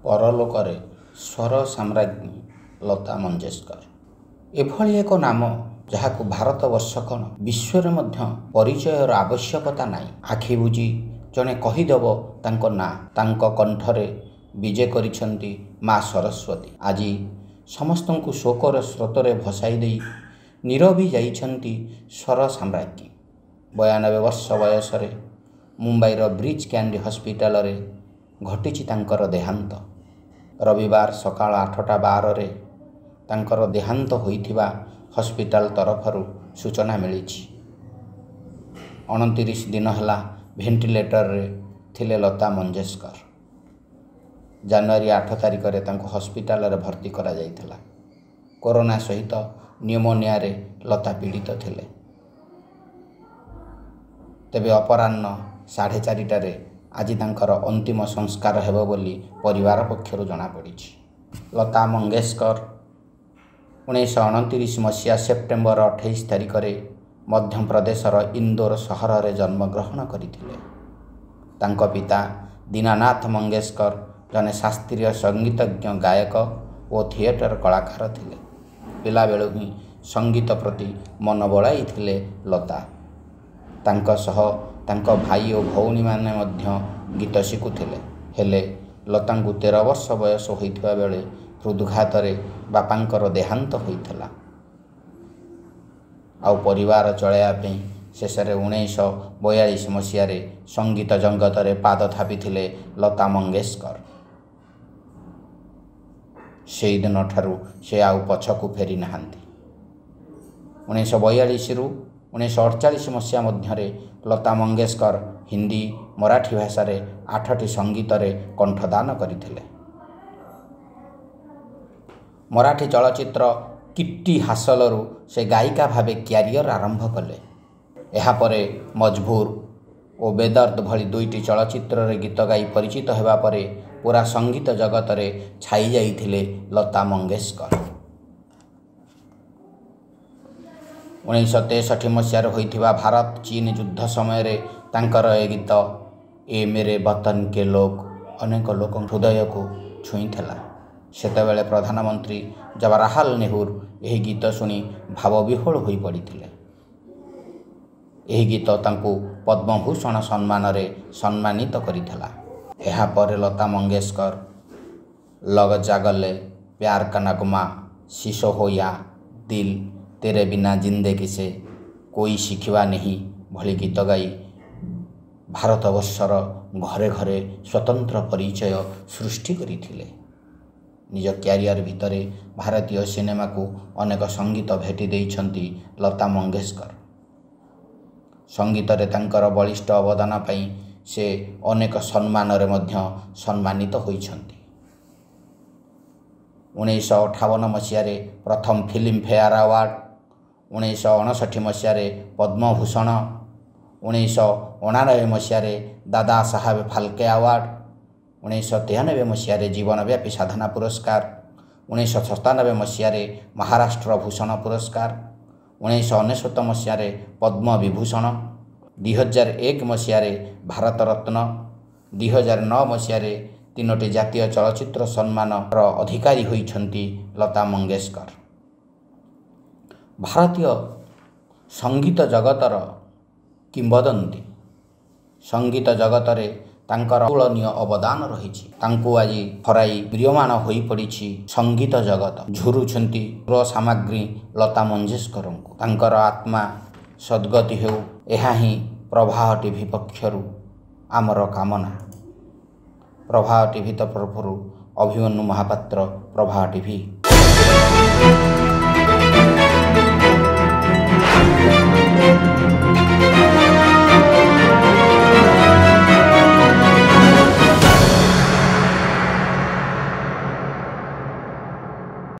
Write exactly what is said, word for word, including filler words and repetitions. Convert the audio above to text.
ପରଲୋକରେ ସ୍ୱର ସାମ୍ରାଜ୍ଞୀ ଲତା ମଙ୍ଗେସକର। ଏଭଳି ଏକ ନାମ ଯାହାକୁ ଭାରତବର୍ଷ କ'ଣ ବିଶ୍ୱରେ ମଧ୍ୟ ପରିଚୟର ଆବଶ୍ୟକତା ନାହିଁ। ଆଖି ବୁଜି ଜଣେ କହିଦେବ ତାଙ୍କ ନାଁ। ତାଙ୍କ କଣ୍ଠରେ ବିଜେ କରିଛନ୍ତି ମା ସରସ୍ୱତୀ। ଆଜି ସମସ୍ତଙ୍କୁ ଶୋକର ସ୍ରୋତରେ ଭସାଇ ଦେଇ ନିରବି ଯାଇଛନ୍ତି ସ୍ୱର ସାମ୍ରାଜ୍ଞୀ। ବୟାନବେ ବର୍ଷ ବୟସରେ ମୁମ୍ବାଇର ବ୍ରିଚ୍ କ୍ୟାଣ୍ଡି ହସ୍ପିଟାଲରେ ଘଟିଛି ତାଙ୍କର ଦେହାନ୍ତ। ରବିବାର ସକାଳ ଆଠଟା ବାରରେ ତାଙ୍କର ଦେହାନ୍ତ ହୋଇଥିବା ହସ୍ପିଟାଲ ତରଫରୁ ସୂଚନା ମିଳିଛି। ଅଣତିରିଶ ଦିନ ହେଲା ଭେଣ୍ଟିଲେଟରରେ ଥିଲେ ଲତା ମଙ୍ଗେସକର। ଜାନୁଆରୀ ଆଠ ତାରିଖରେ ତାଙ୍କୁ ହସ୍ପିଟାଲରେ ଭର୍ତ୍ତି କରାଯାଇଥିଲା। କରୋନା ସହିତ ନ୍ୟୁମୋନିଆରେ ଲତା ପୀଡ଼ିତ ଥିଲେ। ତେବେ ଅପରାହ୍ନ ସାଢ଼େ ଚାରିଟାରେ ଆଜି ତାଙ୍କର ଅନ୍ତିମ ସଂସ୍କାର ହେବ ବୋଲି ପରିବାର ପକ୍ଷରୁ ଜଣାପଡ଼ିଛି। ଲତା ମଙ୍ଗେସକର ଉଣେଇଶହ ଅଣତିରିଶ ମସିହା ସେପ୍ଟେମ୍ବର ଅଠେଇଶ ତାରିଖରେ ମଧ୍ୟପ୍ରଦେଶର ଇନ୍ଦୋର ସହରରେ ଜନ୍ମଗ୍ରହଣ କରିଥିଲେ। ତାଙ୍କ ପିତା ଦୀନାନାଥ ମଙ୍ଗେସକର ଜଣେ ଶାସ୍ତ୍ରୀୟ ସଙ୍ଗୀତଜ୍ଞ, ଗାୟକ ଓ ଥିଏଟର କଳାକାର ଥିଲେ। ପିଲାବେଳୁ ହିଁ ସଙ୍ଗୀତ ପ୍ରତି ମନ ବଳାଇଥିଲେ ଲତା। ତାଙ୍କ ସହ ତାଙ୍କ ଭାଇ ଓ ଭଉଣୀମାନେ ମଧ୍ୟ ଗୀତ ଶିଖୁଥିଲେ। ହେଲେ ଲତାଙ୍କୁ ତେର ବର୍ଷ ବୟସ ହୋଇଥିବା ବେଳେ ହୃଦଘାତରେ ବାପାଙ୍କର ଦେହାନ୍ତ ହୋଇଥିଲା। ଆଉ ପରିବାର ଚଳାଇବା ପାଇଁ ଶେଷରେ ଉଣେଇଶହ ବୟାଳିଶ ମସିହାରେ ସଙ୍ଗୀତ ଜଗତରେ ପାଦ ଥାପିଥିଲେ ଲତା ମଙ୍ଗେସକର। ସେହିଦିନଠାରୁ ସେ ଆଉ ପଛକୁ ଫେରି ନାହାନ୍ତି। ଉଣେଇଶହ ବୟାଳିଶରୁ ଉଣେଇଶହ ଅଡ଼ଚାଳିଶ ମସିହା ମଧ୍ୟରେ ଲତା ମଙ୍ଗେସକର ହିନ୍ଦୀ, ମରାଠୀ ଭାଷାରେ ଆଠଟି ସଙ୍ଗୀତରେ କଣ୍ଠଦାନ କରିଥିଲେ। ମରାଠୀ ଚଳଚ୍ଚିତ୍ର କିଟ୍ଟି ହାସଲରୁ ସେ ଗାୟିକା ଭାବେ କ୍ୟାରିୟର ଆରମ୍ଭ କଲେ। ଏହାପରେ ମଜବୁର ଓ ବେଦର୍ଦ ଭଳି ଦୁଇଟି ଚଳଚ୍ଚିତ୍ରରେ ଗୀତ ଗାଇ ପରିଚିତ ହେବା ପରେ ପୂରା ସଙ୍ଗୀତ ଜଗତରେ ଛାଇ ଯାଇଥିଲେ ଲତା ମଙ୍ଗେସକର। ଉଣେଇଶହ ତେଷଠି ମସିହାରେ ହୋଇଥିବା ଭାରତ ଚୀନ ଯୁଦ୍ଧ ସମୟରେ ତାଙ୍କର ଏ ଗୀତ ଏ ମେରେ ବତନ କେ ଲୋକ ଅନେକ ଲୋକଙ୍କ ହୃଦୟକୁ ଛୁଇଁଥିଲା। ସେତେବେଳେ ପ୍ରଧାନମନ୍ତ୍ରୀ ଜବାହରଲାଲ ନେହେରୁ ଏହି ଗୀତ ଶୁଣି ଭାବବିହ୍ୱଳ ହୋଇପଡ଼ିଥିଲେ। ଏହି ଗୀତ ତାଙ୍କୁ ପଦ୍ମଭୂଷଣ ସମ୍ମାନରେ ସମ୍ମାନିତ କରିଥିଲା। ଏହାପରେ ଲତା ମଙ୍ଗେସକର ଲଗ ଜା ଗଲେ, ପ୍ୟାର କା ନଗମା, ଶୀଶୋ ହୋ ୟା ଦିଲ, ତେରେ ବିନା ଜିନ୍ଦଗି ସେ କୋଇ ଶିଖିବା ନେହିଁ ଭଳି ଗୀତ ଗାଇ ଭାରତବର୍ଷର ଘରେ ଘରେ ସ୍ୱତନ୍ତ୍ର ପରିଚୟ ସୃଷ୍ଟି କରିଥିଲେ। ନିଜ କ୍ୟାରିୟର ଭିତରେ ଭାରତୀୟ ସିନେମାକୁ ଅନେକ ସଙ୍ଗୀତ ଭେଟି ଦେଇଛନ୍ତି ଲତା ମଙ୍ଗେସକର। ସଙ୍ଗୀତରେ ତାଙ୍କର ବଳିଷ୍ଠ ଅବଦାନ ପାଇଁ ସେ ଅନେକ ସମ୍ମାନରେ ମଧ୍ୟ ସମ୍ମାନିତ ହୋଇଛନ୍ତି। ଉଣେଇଶହ ଅଠାବନ ମସିହାରେ ପ୍ରଥମ ଫିଲ୍ମଫେୟାର ଆୱାର୍ଡ଼, ଉଣେଇଶହ ଅଣଷଠି ମସିହାରେ ପଦ୍ମଭୂଷଣ, ଉଣେଇଶହ ଅଣାନବେ ମସିହାରେ ଦାଦା ସାହେବ ଫାଲକେ ଆୱାର୍ଡ଼, ଉଣେଇଶହ ତେୟାନବେ ମସିହାରେ ଜୀବନବ୍ୟାପୀ ସାଧନା ପୁରସ୍କାର, ଉଣେଇଶହ ସତାନବେ ମସିହାରେ ମହାରାଷ୍ଟ୍ର ଭୂଷଣ ପୁରସ୍କାର, ଉଣେଇଶହ ଅନେଶତ ମସିହାରେ ପଦ୍ମବିଭୂଷଣ, ଦୁଇହଜାର ଏକ ମସିହାରେ ଭାରତରତ୍ନ, ଦୁଇହଜାର ନଅ ମସିହାରେ ତିନୋଟି ଜାତୀୟ ଚଳଚ୍ଚିତ୍ର ସମ୍ମାନର ଅଧିକାରୀ ହୋଇଛନ୍ତି ଲତା ମଙ୍ଗେସକର। ଭାରତୀୟ ସଙ୍ଗୀତ ଜଗତର କିମ୍ବଦନ୍ତୀ। ସଙ୍ଗୀତ ଜଗତରେ ତାଙ୍କର ଅତୁଳନୀୟ ଅବଦାନ ରହିଛି। ତାଙ୍କୁ ଆଜି ହରାଇ ମ୍ରିୟମାଣ ହୋଇପଡ଼ିଛି ସଙ୍ଗୀତ ଜଗତ। ଝୁରୁଛନ୍ତି ସୁର ସାମ୍ରାଜ୍ଞୀ ଲତା ମଙ୍ଗେସକରଙ୍କୁ। ତାଙ୍କର ଆତ୍ମା ସଦ୍ଗତି ହେଉ, ଏହା ହିଁ ପ୍ରବାହ ଟିଭି ପକ୍ଷରୁ ଆମର କାମନା। ପ୍ରବାହ ଟିଭି ତରଫରୁ ଅଭିମନ୍ୟୁ ମହାପାତ୍ର, ପ୍ରବାହ ଟିଭି।